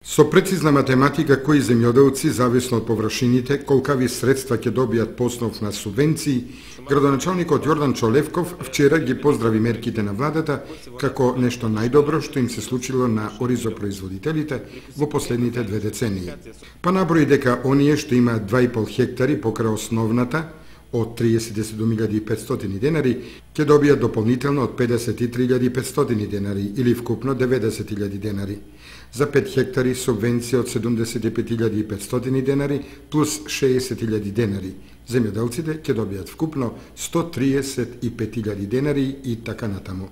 Со прецизна математика кои земјоделци, зависно од површините, колкави средства ќе добијат по основ на субвенции, градоначалникот Јордан Чолевков вчера ги поздрави мерките на владата како нешто најдобро што им се случило на оризопроизводителите во последните 2 децении. Па наброи дека оние што имаат 2,5 хектари покрај основната од 37.500 денари ќе добијат дополнително од 53.500 денари или вкупно 90.000 денари. За 5 хектари субвенција од 75.500 денари плюс 60.000 денари. Земјоделците ќе добијат вкупно 135.000 денари и така натаму.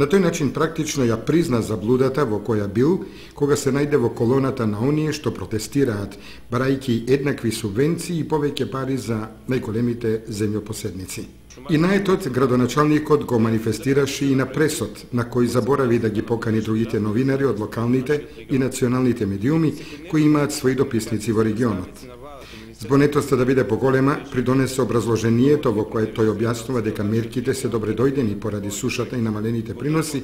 На тој начин практично ја призна заблудата во која бил кога се најде во колоната на оние што протестираат, барајќи еднакви субвенции и повеќе пари за најголемите земјопоседници. И наетот градоначалникот го манифестираше и на пресот, на кој заборави да ги покани другите новинари од локалните и националните медиуми кои имаат своји дописници во регионот. Збонетоста да биде поголема придонесе образложението во кое тој објаснува дека мерките се добредојдени поради сушата и намалените приноси,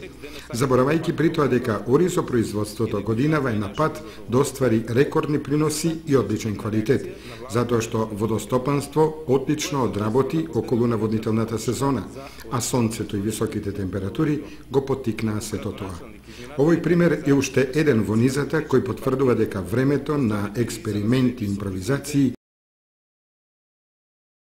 заборавајќи при тоа дека оризопроизводството годинава е на пат да оствари рекордни приноси и одличен квалитет, затоа што водостопанство одлично одработи околу наводнителната сезона, а сонцето и високите температури го поттикнаа сето тоа. Овој пример е уште еден во низата кој потврдува дека времето на експерименти и импровизации